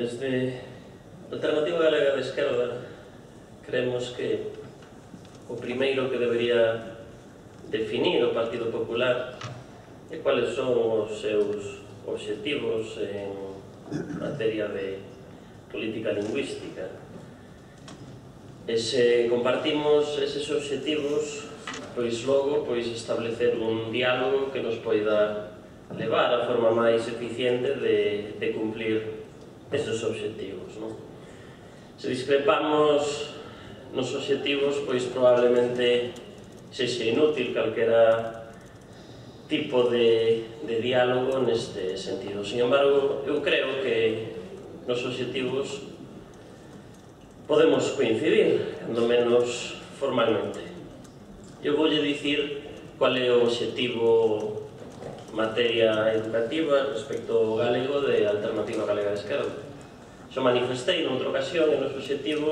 Desde a Alternativa Galega de Esquerda creemos que o primeiro que debería definir o Partido Popular é quales son os seus obxectivos en materia de política lingüística. E se compartimos eses obxectivos, pois logo establecer un diálogo que nos poida levar a forma máis eficiente de cumplir esos obxectivos. Se discrepamos nos obxectivos, pois probablemente sexa inútil calquera tipo de diálogo neste sentido. Sin embargo, eu creo que nos obxectivos podemos coincidir, cando menos formalmente. Eu voulle dicir qual é o obxectivo en materia educativa respecto ao galego de Alternativa Galega de Esquerda. Xo manifestei noutra ocasión e o noso obxectivo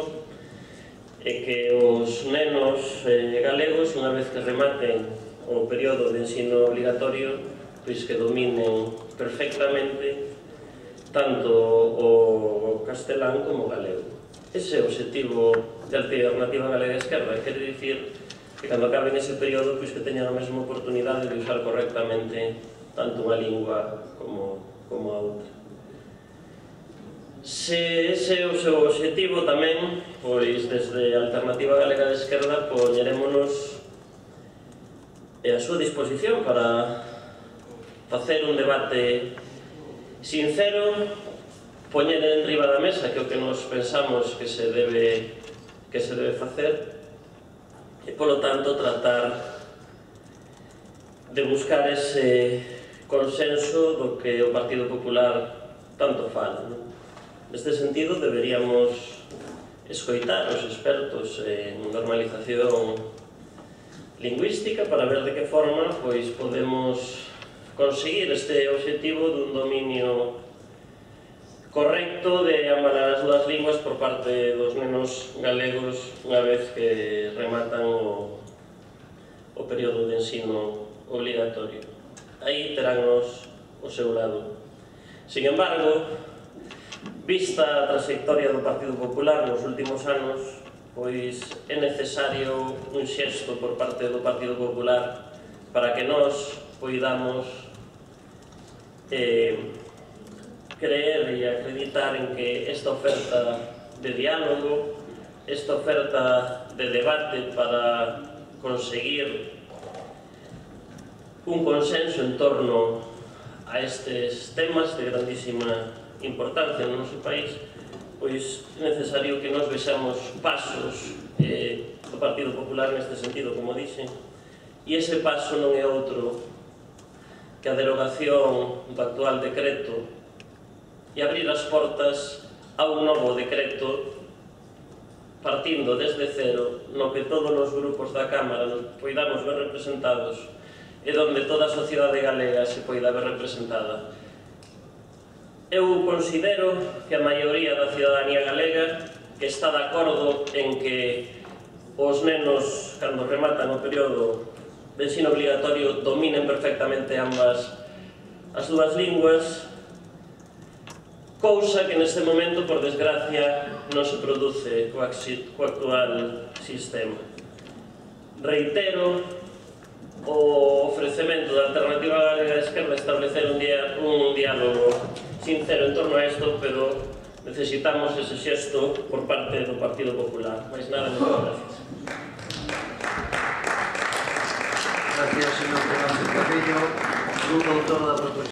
é que os nenos galegos, unha vez que rematen o período de ensino obligatorio, pois que dominen perfectamente tanto o castelán como o galego. Ese é o obxectivo de Alternativa Galega de Esquerda, quere dicir que cando acaben ese período pois que teñan a mesma oportunidade de usar correctamente tanto unha lingua como a outra. Se ese é o seu obxectivo tamén, pois desde a Alternativa Galega de Esquerda poñerémonos a súa disposición para facer un debate sincero, poñer enriba da mesa que é o que nos pensamos que se debe facer e, polo tanto, tratar de buscar ese consenso do que o Partido Popular tanto fala. Neste sentido, deberíamos escoitar os expertos en normalización lingüística para ver de que forma podemos conseguir este obxectivo dun dominio correcto de ambas as dúas linguas por parte dos nenos galegos unha vez que rematan o período de ensino obligatorio. Aí teránnos o seu lado. Sin embargo, vista a trayectoria do Partido Popular nos últimos anos, pois é necesario un xesto por parte do Partido Popular para que nós poidamos creer e acreditar en que esta oferta de diálogo, esta oferta de debate para conseguir un consenso en torno a estes temas de grandísima importancia no noso país, pois é necesario que nos vexamos pasos do Partido Popular neste sentido, como dixen, e ese paso non é outro que a derogación do actual decreto e abrir as portas a un novo decreto partindo desde cero, no que todos os grupos da Cámara nos poidamos ver representados e donde toda a sociedade galega se poida ver representada. Eu considero que a maioría da cidadanía galega que está de acordo en que os nenos, cando rematan o período de ensino obligatorio, dominen perfectamente ambas as dúas linguas, cousa que neste momento, por desgracia, non se produce co actual sistema. Reitero o ofrecemento da Alternativa Galega de Esquerda establecer un diálogo sincero en torno a isto, pero necesitamos ese xesto por parte do Partido Popular. Mais nada, moitas gracias. Gracias, señor Fernández Carrillo, grupo autor da proposición.